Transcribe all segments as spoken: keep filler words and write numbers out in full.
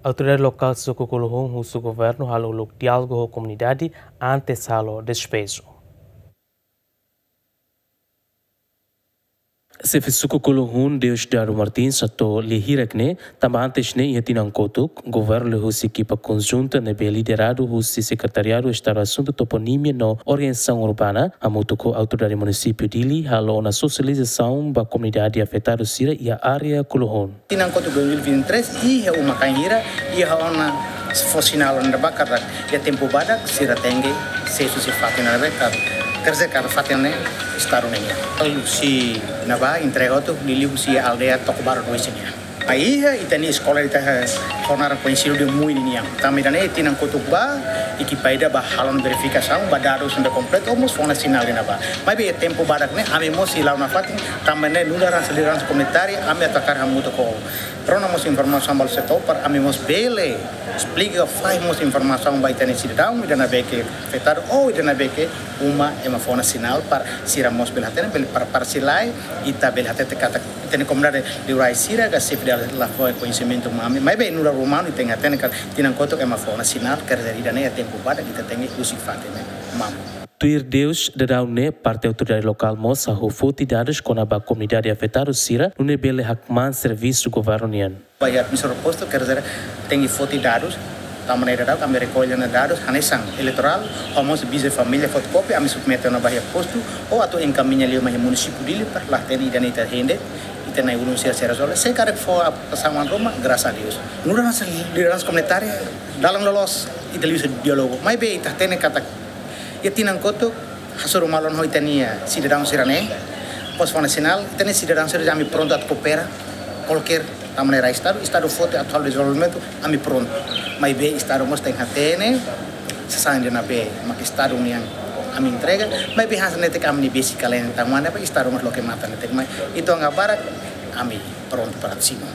Autoridade lokál suku Kuluhun husu governu halo uluk diálogu ho komunidade antes halo despeju. Xefe suku Kuluhun Deusdado Martins hato'o lia hirak ne'e, tanba antes ne'e iha tinan kotuk, governu liuhusi ekipa konjunta ne'ebé lideradu husi Sekretariadu Estadu Asuntu Toponímia no Organizasaun Urbana, hamutuk ho autoridade munisípiu Dili, halo ona sosializasaun ba komunidade afetadu sira iha área Kuluhun. Tinan kotuk dois mil e vinte e três, iha uma-kain hira, iha ona fó sinál ne'ebá katak iha tempu badak sira tenke sesu husi fatin ne'ebé katak, terseira katak fatin ne'e Estadu nian. Husi ne'ebá entrega hotu, liuliu husi aldeia Tokobaru dois nian. Iha ita-nia eskola ita ho naran koñesidu dehan Mui nian. Tanba ida-ne'e tinan kotuk bá, ekipa ida bá halo verifikasaun, bá dadus ne'ebé kompletu, mós fó ona sinál iha ne'ebá. Maibé tempu badak ne'e, ami mós sei la'o nafatin, tanba ne'e nu'udar hanesan lideransa komunitária, ami atu hakarak hamutuk ho rona mós informasaun ba setór, para ami mós bele esplika, fó mós informasaun ba ita-nia sidadaun, ida ne'ebé ke afetadu, ou ida ne'ebé ke uma ema fó ona sinál, para sira mós bele hatene, bele para, para sira lae, ita bele hatete katak, ita-nia komunidade liurai sira, ka xefe de la fó koñesimentu mai ami, maibé nu'udar umanu, ita tenke hatene katak, tinan kotuk ema fó ona sinál, kerja ida-ne'e iha tempu badak, ita tenke husi fatin ne'e, mamuk. Tuir Deusdado ne'e, parte autoridade lokál mós hahú foti dadus kona-ba komunidade afetadu sira, nune'e bele hakmaan servisu governu nian. Ba iha administradór postu, kerja tenke foti dadus, tanba ne'e dadus, ami rekolla ona dadus, hanesan eleitorál, ho mós bisa família fotokópia, ami submete ona ba iha postu, ou atu enkamiña liu mai iha munisípiu Dili, para la hatene ida-ne'e ita hende, ita na'in-ulun sira sei rezolve, se karik fó a pasaman ruma, grasas a Deus. Nu'udar hanesan lideransa komunitária, dalan loloos, ita liuhusi diálogu, maibé ita hatene katak, iha tinan kotuk, hasoru malu ona ho ita-nia sidadaun sira-ne'e, mós fó ona sinál, ita-nia sidadaun sira ami prontu atu koopera, kualkér, tanba ne'e rai Estadu, Estadu foti atu halo dezenvolvimentu, ami prontu. Maibé Estadu mós tenke hatene, sasán ida ne'ebé mak Estadu nian ami entrega, maibé hanesan netik ami-nia besik kalen tanba ne'e, Estadu mós loke matan netik mai, entaun agora ami prontu para simu.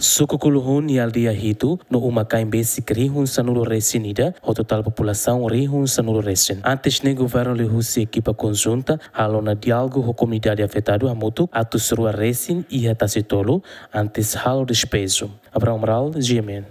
Suku Kuluhun iha aldeia hitu, no uma-kain besik rihun sanulu resin ida, ho totál populasaun rihun sanulu resin. Antes ne'e governu liuhusi ekipa konjunta, halo ona diálogu ho komunidade afetadu hamutuk atus rua resin iha Tasi Tolu, antes halo despeju. Abrão Amaral, G M N.